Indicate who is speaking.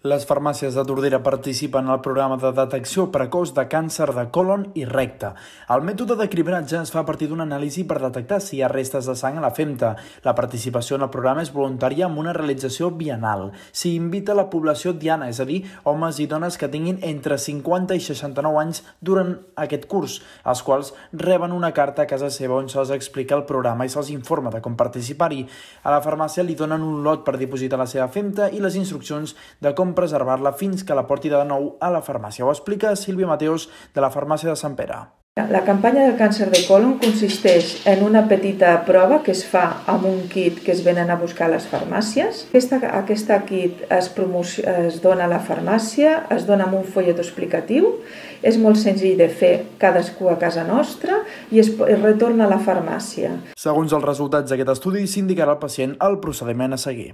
Speaker 1: Les farmàcies de Tordera participen al programa de detecció precoç de càncer de còlon i recte. El mètode de cribratge es fa a partir d'una anàlisi per detectar si hi ha restes de sang a la femta. La participació en el programa és voluntària amb una realització biennal. S'hi invita a la població diana, és a dir, homes i dones que tinguin entre 50 i 69 anys durant aquest curs, els quals reben una carta a casa seva on se'ls explica el programa i se'ls informa de com participar-hi. A la farmàcia li donen un lot per dipositar la seva femta i les instruccions de com preservar-la fins que la porti de nou a la farmàcia. Ho explica Sílvia Mateos, de la farmàcia de Sant Pere.
Speaker 2: La campanya del càncer de còlon consisteix en una petita prova que es fa amb un kit que es venen a buscar a les farmàcies. Aquesta kit es dona a la farmàcia, es dona amb un follet explicatiu, és molt senzill de fer cadascú a casa nostra i es retorna a la farmàcia.
Speaker 1: Segons els resultats d'aquest estudi, s'indicarà al pacient el procediment a seguir.